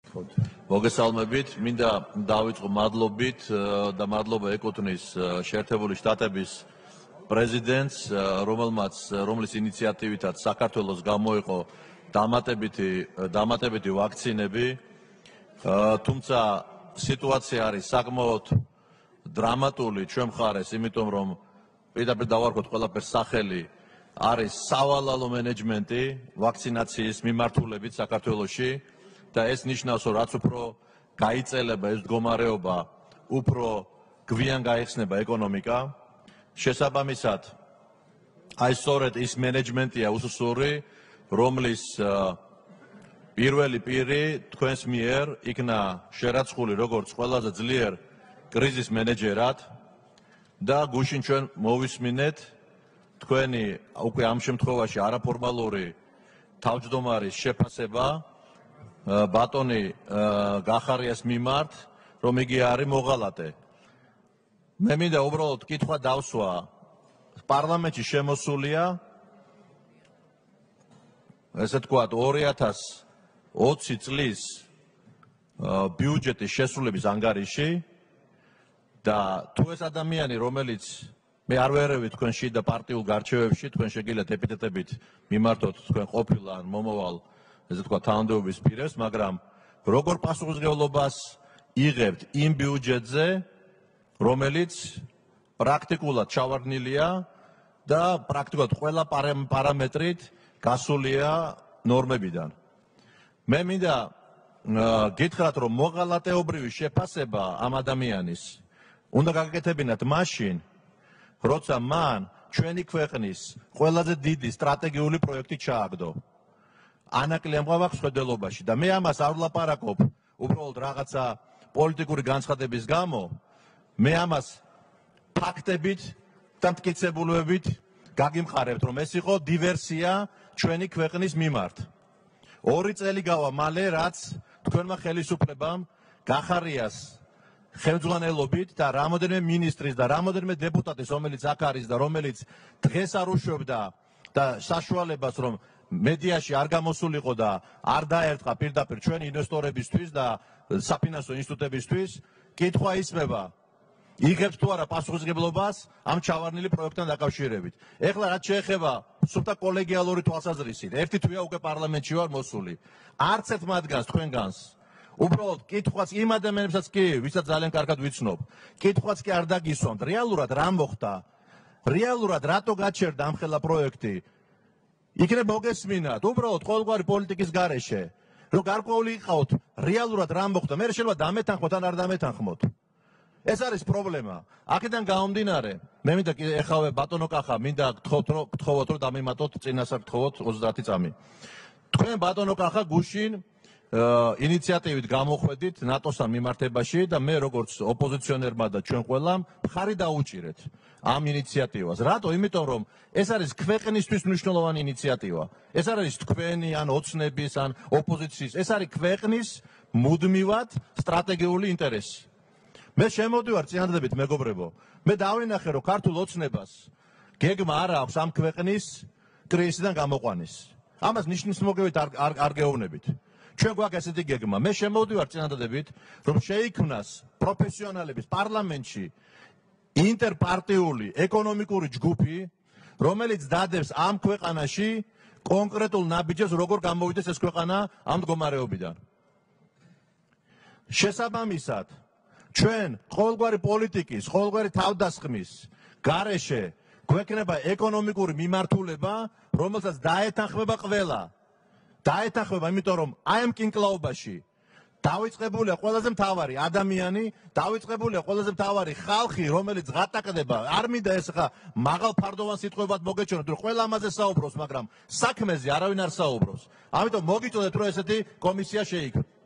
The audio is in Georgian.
მოგესალმებით, მინდა დავიწყო მადლობით და მადლობა ეკუთვნის შეერთებული შტატების პრეზიდენტს, რომლის ინიციატივითაც საქართველოს გამოიყო დამატებითი ვაქცინები, თუმცა სიტუაცია არის საკმაოდ დრამატული ჩვენ მხარეს, იმიტომ რომ პირდაპირ დავარქოთ ყველაფერს სახელი არის სავალალო მენეჯმენტი ვაქცინაციის მიმართულებით საქართველოში და ეს ნიშნავს, რომ რაც უფრო გაიწელება ეს მდგომარეობა, უფრო გვიან გაიხსნება ეკონომიკა. შესაბამისად, აი სწორედ ის მენეჯმენტია უსუსური, რომლის პირველი პირი თქვენს მიერ იქნა შერაცხული როგორც ყველაზე ძლიერ კრიზის მენეჯერად და გუშინ ჩვენ მოვისმინეთ თქვენი უკვე ამ შემთხვევაში არაფორმალური თავმჯდომარის შეფასება ბატონი გახარიას მიმართ, რომ იგი არის მოღალატე. მე მინდა უბრალოდ კითხვა დავსვა, პარლამენტში შემოსულია ესე თქვათ 2020 წლის ბიუჯეტის შესრულების ანგარიში და თუ ეს ადამიანი, რომელიც მე არ ვერევი თქვენ შიდა პარტიულ გარჩევებში, თქვენ შეგიძლიათ ეპიტეტებით მიმართოთ თქვენ ყოფილ ან მომავალ ესე თქვა თანამდებობის პირებს, მაგრამ როგორ პასუხისმგებლობას იღებთ იმ ბიუჯეტზე, რომელიც პრაქტიკულად ჩავარდნილია და პრაქტიკულად ყველა პარამეტრით გასულია ნორმებიდან. მე მინდა გითხრათ, რომ მოღალატეობრივი შეფასება ამ ადამიანის უნდა გაგაკეთებინათ მაშინ, როცა მან ჩვენი ქვეყნის ყველაზე დიდი სტრატეგიული პროექტი ჩააგდო. ანაკლი ამღვაქვს ხედელობაში და მე ამას არ ვლაპარაკობ უბრალოდ რაღაცა პოლიტიკური განცხადების გამო, მე ამას ფაქტებით და მტკიცებულებებით გაგიმყარებთ, რომ ეს იყო დივერსია ჩვენი ქვეყნის მიმართ. 2 წელი გავა მალე, რაც თქვენმა ხელისუფლებამ გახარიას ხელმძღვანელობით და რამოდენიმე მინისტრის და რამოდენიმე დეპუტატის, რომელიც აქ არის და რომელიც დღეს არ უშვებდა და საშუალებას, რომ მედიაში არ გამოსულიყო და არ დაერტყა პირდაპირ ჩვენი ინვესტორებისთვის და საფინანსო ინსტიტუტებისთვის, კითხვა ისმება, იღებს თუ არა პასუხისმგებლობას ამ ჩავარდნილი პროექტთან დაკავშირებით. ეხლა რაც შეეხება სუფთა კოლეგიალური თვალსაზრისით, ერთი თვეა უკვე პარლამენტში ვარ მოსული. არც ერთ მათგანს თქვენგანს უბრალოდ კითხვაც იმ ადამიანებსაც კი, ვისაც ძალიან კარგად ვიცნობ, კითხვაც კი არ დაგისვამთ, რეალურად რა მოხდა, რეალურად რატო გაჩერდა ამ ხელა პროექტი. იქნებ მოგესმინათ, უბრალოდ ყოველგვარი პოლიტიკის გარეშე, რომ გარკვეული იყავთ, რეალურად რა მოხდა, მე შეიძლება დამეთანხმოთ ან არ დამეთანხმოთ. ეს არის პრობლემა. აქედან გამომდინარე, მე მინდა ეხავე ბატონო კახა, მინდა გთხოვოთ, რომ დამიმატოთ წინასწარ გთხოვოთ 30 წამი. თქვენ ბატონო კახა გუშინ ინიციატივით გამოხვედით ნატოსთან მიმართებაში და მე როგორც ოპოზიციონერმა და ჩვენ ყველამ მხარი დაუჭირეთ ამ ინიციატივას. რატო? იმიტომ რომ ეს არის ქვეყნისთვის მნიშვნელოვანი ინიციატივა. ეს არის თქვენი ან ოცნების ან ოპოზიციის, ეს არის ქვეყნის მუდმივად სტრატეგიული ინტერესი. მე შემოდივარ წინადადებით მეგობრებო, მე დავინახე, რომ ქართულ ოცნებას გეგმა არ აქვს ამ ქვეყნის კრიზისიდან გამოყვანის. ამას ნიშნის მოგევით არ გეუბნებით. ჩვენ გვაქვს ესეთი გეგმა. მე შემოვდივარ წინადადებით, რომ შეიქმნას პროფესიონალების პარლამენტში ინტერპარტიული ეკონომიკური ჯგუფი, რომელიც დადებს ამ ქვეყანაში კონკრეტულ ნაბიჯებს, როგორ გამოვიდეს ეს ქვეყანა ამ მდგომარეობიდან. შესაბამისად, ჩვენ ყოველგვარი პოლიტიკის, ყოველგვარი თავდასხმის გარეშე გვექნება ეკონომიკური მიმართულება, რომელსაც დაეთანხმება ყველა. დაეთანხმება, იმიტომ რომ აი ამ კინკლაობაში დავიწყებულია ყველაზე მთავარი ადამიანი, დავიწყებულია ყველაზე მთავარი ხალხი, რომელიც ღატაკდება. არ მინდა ეს ხა მაღალფარდოვან სიტყვებად მოგეჩვენოთ, რომ ყველა ამაზე საუბრობს, მაგრამ საქმეზე არავინ არ საუბრობს. ამიტომ მოგიწოდეთ, რომ ესეთი კომისია შეიქმნა.